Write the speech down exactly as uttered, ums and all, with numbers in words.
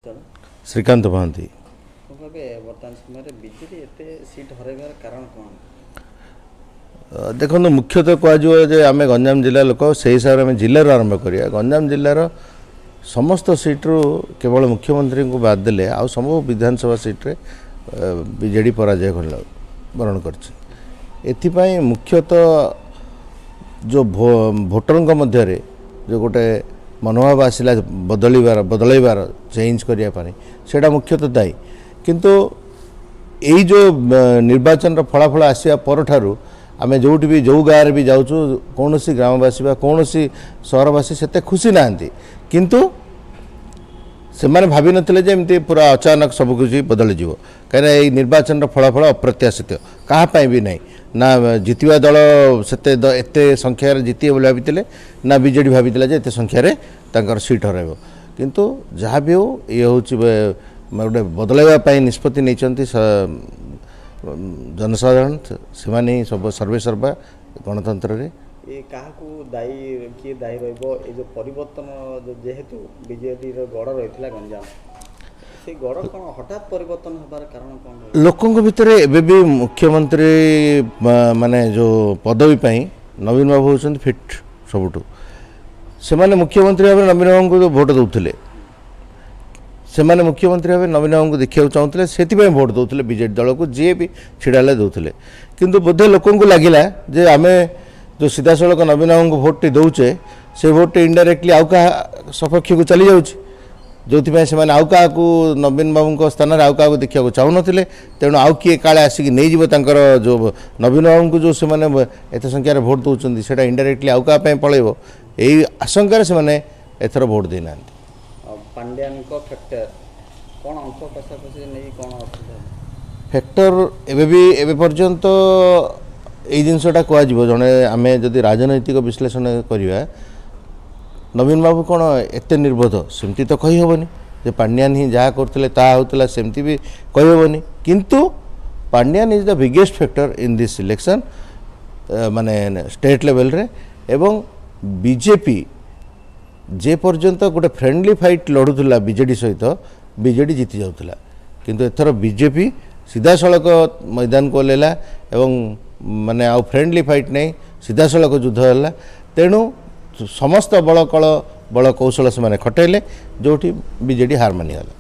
ଶ୍ରୀକାନ୍ତ ମହାନ୍ତି। ଭାବେ ବର୍ତ୍ତମାନ ସମୟରେ ବିଜେଡି ଏତେ ସିଟ୍ ହରାଇବାର କାରଣ କ'ଣ? ଦେଖନ୍ତୁ, ମୁଖ୍ୟତଃ କୁହାଯିବ ଯେ ଆମେ ଗଞ୍ଜାମ ଜିଲ୍ଲା ଲୋକ, ସେଇ ହିସାବରେ ଆମେ ଜିଲ୍ଲାରୁ ଆରମ୍ଭ କରିବା। ଗଞ୍ଜାମ ଜିଲ୍ଲାର ସମସ୍ତ ସିଟ୍ରୁ କେବଳ ମୁଖ୍ୟମନ୍ତ୍ରୀଙ୍କୁ ବାଦ ଦେଲେ ଆଉ ସବୁ ବିଧାନସଭା ସିଟ୍ରେ ବିଜେଡ଼ି ପରାଜୟ ବରଣ କରିଛି। ଏଥିପାଇଁ ମୁଖ୍ୟତଃ ଯେଉଁ ଭୋଟରଙ୍କ ମଧ୍ୟରେ ଯେଉଁ ଗୋଟେ ମନୋଭାବ ଆସିଲା ବଦଳିବାର, ବଦଳାଇବାର, ଚେଞ୍ଜ କରିବା ପାଇଁ, ସେଇଟା ମୁଖ୍ୟତଃ ଦାୟୀ। କିନ୍ତୁ ଏଇ ଯେଉଁ ନିର୍ବାଚନର ଫଳାଫଳ ଆସିବା ପରଠାରୁ ଆମେ ଯେଉଁଠି ବି ଯେଉଁ ଗାଁରେ ବି ଯାଉଛୁ, କୌଣସି ଗ୍ରାମବାସୀ ବା କୌଣସି ସହରବାସୀ ସେତେ ଖୁସି ନାହାନ୍ତି। କିନ୍ତୁ ସେମାନେ ଭାବିନଥିଲେ ଯେ ଏମିତି ପୁରା ଅଚାନକ ସବୁକିଛି ବଦଳିଯିବ, କାହିଁକିନା ଏଇ ନିର୍ବାଚନର ଫଳାଫଳ ଅପ୍ରତ୍ୟାଶିତ କାହା ପାଇଁ ବି ନାହିଁ। ନା ଜିତିବା ଦଳ ସେତେ ଏତେ ସଂଖ୍ୟାରେ ଜିତିବେ ବୋଲି ଭାବିଥିଲେ, ନା ବିଜେଡ଼ି ଭାବିଥିଲା ଯେ ଏତେ ସଂଖ୍ୟାରେ ତାଙ୍କର ସିଟ୍ ହରାଇବ। କିନ୍ତୁ ଯାହା ବି ହେଉ, ଇଏ ହେଉଛି ଗୋଟେ ବଦଳାଇବା ପାଇଁ ନିଷ୍ପତ୍ତି ନେଇଛନ୍ତି ଜନସାଧାରଣ, ସେମାନେ ହିଁ ସବୁ ସର୍ବେ ସର୍ବା ଗଣତନ୍ତ୍ରରେ। ଏ କାହାକୁ ଦାୟୀ, କିଏ ଦାୟୀ ରହିବ ଏ ଯେଉଁ ପରିବର୍ତ୍ତନ? ଯେହେତୁ ବିଜେଡ଼ିର ଗଡ଼ ରହିଥିଲା ଗଞ୍ଜାମ, ସେ ଗଡ଼ କ'ଣ ହଠାତ୍ ପରିବର୍ତ୍ତନ ହେବାର କାରଣ କ'ଣ? ଲୋକଙ୍କ ଭିତରେ ଏବେ ବି ମୁଖ୍ୟମନ୍ତ୍ରୀ ମାନେ ଯେଉଁ ପଦବୀ ପାଇଁ ନବୀନ ବାବୁ ହେଉଛନ୍ତି ଫିଟ୍ ସବୁଠୁ। ସେମାନେ ମୁଖ୍ୟମନ୍ତ୍ରୀ ଭାବରେ ନବୀନ ବାବୁଙ୍କୁ ଭୋଟ ଦେଉଥିଲେ, ସେମାନେ ମୁଖ୍ୟମନ୍ତ୍ରୀ ଭାବେ ନବୀନ ବାବୁଙ୍କୁ ଦେଖିବାକୁ ଚାହୁଁଥିଲେ, ସେଥିପାଇଁ ଭୋଟ ଦେଉଥିଲେ ବିଜେଡ଼ି ଦଳକୁ, ଯିଏ ବି ଛିଡ଼ା ହେଲେ ଦେଉଥିଲେ। କିନ୍ତୁ ବୋଧେ ଲୋକଙ୍କୁ ଲାଗିଲା ଯେ ଆମେ ଯେଉଁ ସିଧାସଳଖ ନବୀନ ବାବୁଙ୍କୁ ଭୋଟଟି ଦେଉଛେ, ସେ ଭୋଟଟି ଇନଡାଇରେକ୍ଟଲି ଆଉ କାହା ସପକ୍ଷକୁ ଚାଲିଯାଉଛି, ଯେଉଁଥିପାଇଁ ସେମାନେ ଆଉ କାହାକୁ ନବୀନ ବାବୁଙ୍କ ସ୍ଥାନରେ ଆଉ କାହାକୁ ଦେଖିବାକୁ ଚାହୁଁନଥିଲେ। ତେଣୁ ଆଉ କିଏ କାଳେ ଆସିକି ନେଇଯିବ ତାଙ୍କର ଯେଉଁ ନବୀନ ବାବୁଙ୍କୁ ଯେଉଁ ସେମାନେ ଏତେ ସଂଖ୍ୟାରେ ଭୋଟ ଦେଉଛନ୍ତି, ସେଇଟା ଇନଡାଇରେକ୍ଟଲି ଆଉ କାହା ପାଇଁ ପଳେଇବ, ଏଇ ଆଶଙ୍କାରେ ସେମାନେ ଏଥର ଭୋଟ ଦେଇନାହାନ୍ତି। ପାଣ୍ଡିଆନଙ୍କ ଫ୍ୟାକ୍ଟର କ'ଣ, ଅଙ୍କ କଷାକଷି ନେଇ କ'ଣ ଅସୁବିଧା ଫ୍ୟାକ୍ଟର? ଏବେ ବି ଏବେ ପର୍ଯ୍ୟନ୍ତ ଏଇ ଜିନିଷଟା କୁହାଯିବ, ଜଣେ ଆମେ ଯଦି ରାଜନୈତିକ ବିଶ୍ଳେଷଣ କରିବା, ନବୀନ ବାବୁ କ'ଣ ଏତେ ନିର୍ବୋଧ ସେମିତି ତ କହିହେବନି ଯେ ପାଣ୍ଡିଆନ ହିଁ ଯାହା କରୁଥିଲେ ତାହା ହେଉଥିଲା, ସେମିତି ବି କହିହେବନି। କିନ୍ତୁ Pandian is the biggest factor in this election, ମାନେ ଷ୍ଟେଟ୍ ଲେଭେଲରେ। ଏବଂ ବିଜେପି ଯେ ପର୍ଯ୍ୟନ୍ତ ଗୋଟେ ଫ୍ରେଣ୍ଡଲି ଫାଇଟ୍ ଲଢ଼ୁଥିଲା ବିଜେଡ଼ି ସହିତ, ବିଜେଡ଼ି ଜିତି ଯାଉଥିଲା। କିନ୍ତୁ ଏଥର ବିଜେପି ସିଧାସଳଖ ମଇଦାନକୁ ଓହ୍ଲାଇଲା ଏବଂ ମାନେ ଆଉ ଫ୍ରେଣ୍ଡଲି ଫାଇଟ୍ ନାହିଁ, ସିଧାସଳଖ ଯୁଦ୍ଧ ହେଲା। ତେଣୁ ସମସ୍ତ ବଳ କଳ ବଳ କୌଶଳ ସେମାନେ ଖଟାଇଲେ, ଯେଉଁଠି ବିଜେଡ଼ି ହାର ମାନିଗଲା।